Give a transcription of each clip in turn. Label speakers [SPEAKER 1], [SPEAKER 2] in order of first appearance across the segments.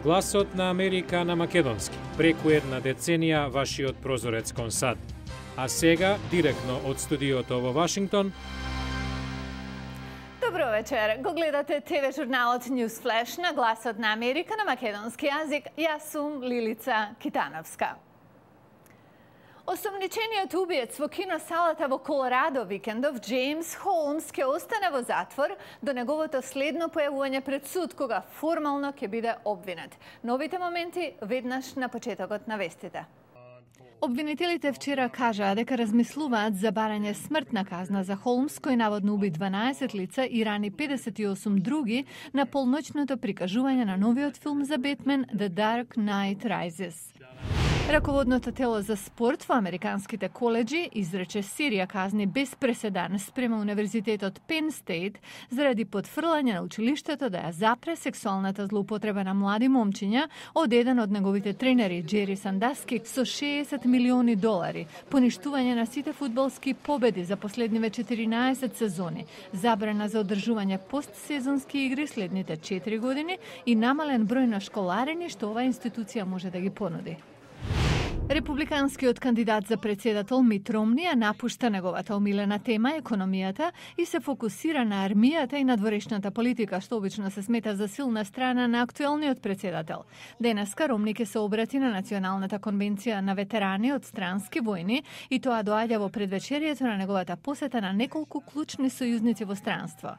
[SPEAKER 1] Гласот на Америка на македонски. Преку една деценија вашиот прозорец кон САД. А сега, директно од студиото во Вашингтон.
[SPEAKER 2] Добро вечер. Го гледате ТВ журналот News Flash на Гласот на Америка на македонски јазик. Јас сум Лилица Китановска. Осомничениот убиец во киносалата во Колорадо викендов, Джеймс Холмс, ќе остане во затвор до неговото следно појавување пред суд, кога формално ќе биде обвинет. Новите моменти веднаш на почетокот на вестите. Обвинителите вчера кажаа дека размислуваат за барање смртна казна за Холмс, кој наводно уби 12 лица и рани 58 други на полноќното прикажување на новиот филм за Бетмен The Dark Knight Rises. Раководното тело за спорт во американските коледжи изрече серија казни без преседан спрема Универзитетот Penn State заради потфрлање на училиштето да ја запре сексуалната злоупотреба на млади момчиња од еден од неговите тренери Джери Сандаски со $60 милиони, поништување на сите фудбалски победи за последниве 14 сезони, забрана за одржување постсезонски игри следните 4 години и намален број на школарини што оваа институција може да ги понуди. Републиканскиот кандидат за председател Мит Ромни ја напушта неговата омилена тема економијата и се фокусира на армијата и надворешната политика, што обично се смета за силна страна на актуелниот председател. Денеска Ромни ќе се обрати на Националната конвенција на ветерани од странски војни и тоа доаѓа во предвечерието на неговата посета на неколку клучни сојузници во странство.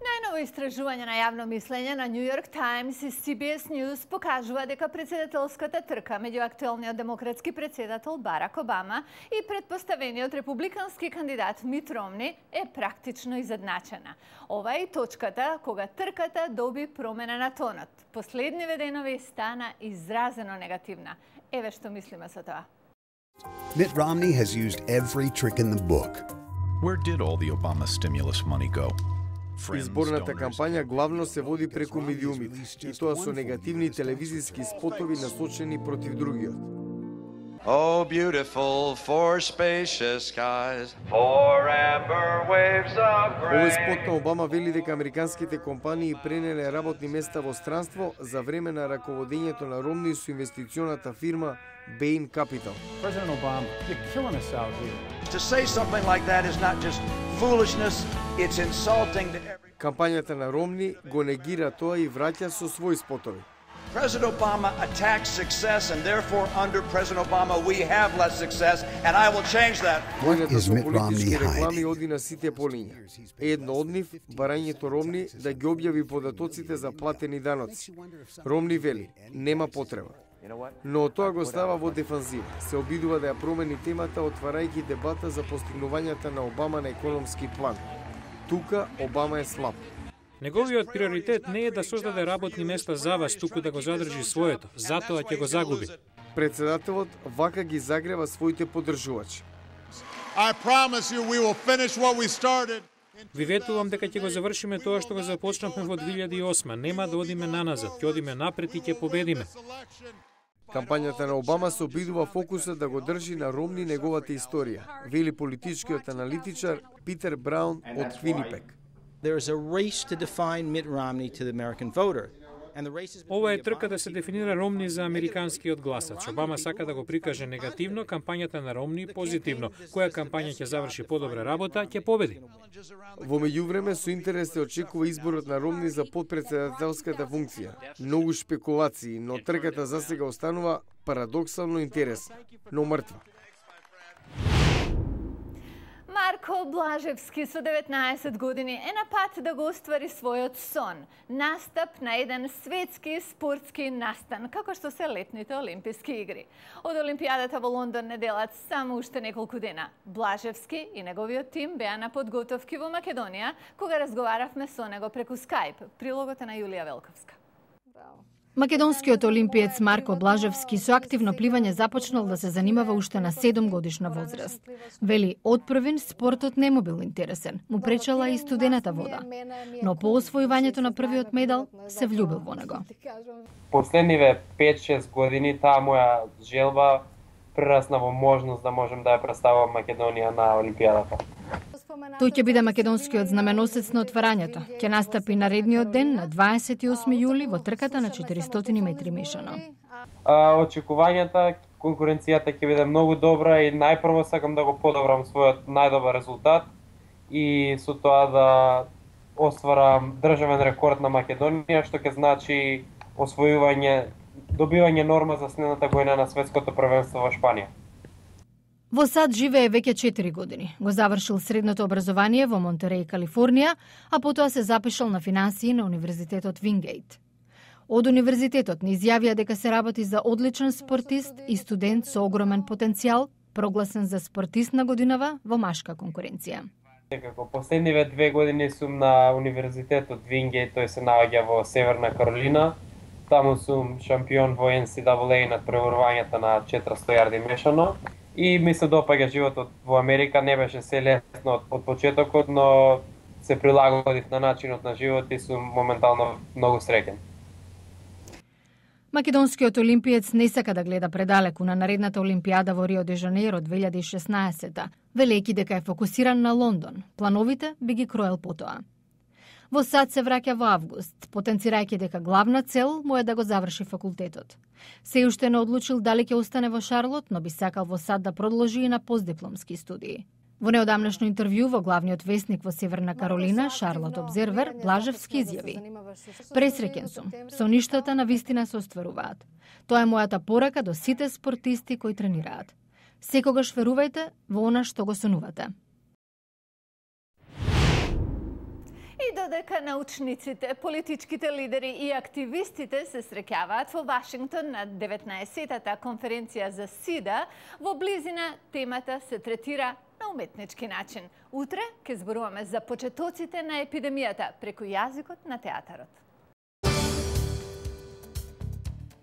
[SPEAKER 2] Најново истражување на јавно мислење на New York Times и CBS News покажува дека председателската трка меѓу актуелниот демократски председател Барак Обама и претпоставениот републикански кандидат Мит Ромни е практично изедначена. Ова е и точката кога трката доби промена на тонот. Последниве денови стана изразено негативна. Еве што мислиме со тоа.
[SPEAKER 3] Mitt Romney has used every trick in the book.
[SPEAKER 4] Where did all the Obama stimulus money go?
[SPEAKER 5] Изборната кампања главно се води преку медиумите, и тоа со негативни телевизиски спотови насочени против другиот.
[SPEAKER 6] Oh, beautiful for spacious skies, for amber waves of grain.
[SPEAKER 5] Овој спот на Обама вели дека американските компании пренеле работни места во странство за време на раководењето на Ромни со инвестиционата фирма Bain Capital.
[SPEAKER 7] President Obama, you're killing us out here.
[SPEAKER 6] To say something like that is not just foolishness, it's insulting to every...
[SPEAKER 5] Кампањата на Ромни го негира тоа и враќа со своји спотови.
[SPEAKER 6] President Obama attacks success, and therefore under President Obama we have less success, and I will change that.
[SPEAKER 5] Војната со политички реклами оди на сите полиња. Едно од нив, барањето Ромни да ги објави податоците за платени даноци. Ромни вели, нема потреба. Но тоа го става во дефанзива. Се обидува да ја промени темата, отварајќи дебата за постигнувањата на Обама на економски план. Тука Обама е слаб.
[SPEAKER 1] Неговиот приоритет не е да создаде работни места за вас, туку да го задржи своето. Затоа ќе го загуби.
[SPEAKER 5] Председателот вака ги загрева своите поддржувачи.
[SPEAKER 8] I promise you we will finish what we started.
[SPEAKER 1] Ви ветувам дека ќе го завршиме тоа што го започнавме во 2008. Нема да одиме наназад, ќе одиме напред и ќе победиме.
[SPEAKER 5] Кампањата на Обама се обидува фокусот да го држи на Ромни неговата историја, вели политичкиот аналитичар Питер Браун од Квинипек.
[SPEAKER 9] There is a race to define Mitt Romney to the American voter.
[SPEAKER 1] Ова е трка да се дефинира Ромни за американскиот гласач. Обама сака да го прикаже негативно, кампањата на Ромни позитивно. Која кампања ќе заврши подобра работа, ќе победи.
[SPEAKER 5] Во меѓувреме со интерес се очекува изборот на Ромни за подпредседателската функција. Многу шпекулации, но трката засега останува парадоксално интересна, но мртва.
[SPEAKER 2] Марко Блажевски со 19 години е на пат да го оствари својот сон. Настап на еден светски спортски настан, како што се летните Олимписки игри. Од Олимпијадата во Лондон не делат само уште неколку дена. Блажевски и неговиот тим беа на подготовки во Македонија, кога разговаравме со него преку Skype. Прилогот е на Јулија Велковска. Македонскиот олимпиец Марко Блажевски со активно пливање започнал да се занимава уште на 7 годишна возраст. Вели, од првин спортот не му бил интересен, му пречела и студената вода. Но по освојувањето на првиот медал се влюбил во него.
[SPEAKER 10] Последниве 5-6 години таа моја желба прерасна во можност да можем да ја представам Македонија на Олимпијадата.
[SPEAKER 11] Тој ќе биде македонскиот знаменосец на отварањето. Ќе настапи наредниот ден на 28 јули во трката на 400 метри мешано.
[SPEAKER 10] Очекувањата, конкуренцијата ќе биде многу добра и најпрво сакам да го подобрам својот најдобар резултат и со тоа да остварам државен рекорд на Македонија, што ќе значи добивање норма за следната година на светското првенство во Шпанија.
[SPEAKER 11] Во САД живее веќе 4 години. Го завршил средното образование во Монтереј, Калифорнија, а потоа се запишал на финансии на Универзитетот Вингејт. Од универзитетот не изјавија дека се работи за одличен спортист и студент со огромен потенцијал, прогласен за спортист на годинава во машка конкуренција.
[SPEAKER 10] Како последниве 2 години сум на Универзитетот Вингејт, тој се наоѓа во Северна Каролина. Таму сум шампион во NCAA на преврувањата на 400 јарди мешано. И ми се допаѓа животот во Америка, не беше се лесно од почетокот, но се прилагодив на начинот на живот и сум моментално многу среќен.
[SPEAKER 11] Македонскиот олимпиец не сака да гледа предалеку на наредната Олимпијада во Рио де Жанеиро 2016, велејќи дека е фокусиран на Лондон. Плановите би ги кроел потоа. Во САД се враќа во август, потенцирајќи дека главна цел му е да го заврши факултетот. Се уште не одлучил дали ќе остане во Шарлот, но би сакал во САД да продолжи и на постдипломски студии. Во неодамнашно интервју во главниот весник во Северна Каролина, Шарлот Обзервер, Блажевски изјави: "Пресреќен сум, со ништата на вистина се остваруваат. Тоа е мојата порака до сите спортисти кои тренираат. Секогаш верувајте во она што го сонувате."
[SPEAKER 2] И додека научниците, политичките лидери и активистите се среќаваат во Вашингтон на 19-та конференција за СИДА, во близина темата се третира на уметнички начин. Утре ќе зборуваме за почетоците на епидемијата преку јазикот на театарот.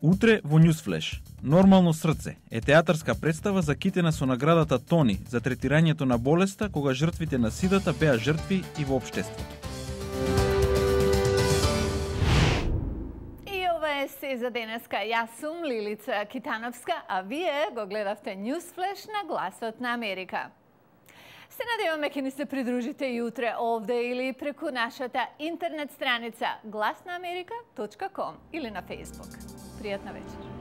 [SPEAKER 12] Утре во Newsflash. Нормално срце е театарска представа закитена со наградата Тони за третирањето на болеста кога жртвите на сидата беа жртви и во општеството.
[SPEAKER 2] Се за денеска. Јас сум Лилица Китановска, а вие го гледавте Newsflash на Гласот на Америка. Се надеваме ќе ни се придружите и утре овде или преку нашата интернет страница glasnaamerika.com или на Facebook. Пријатна вечер.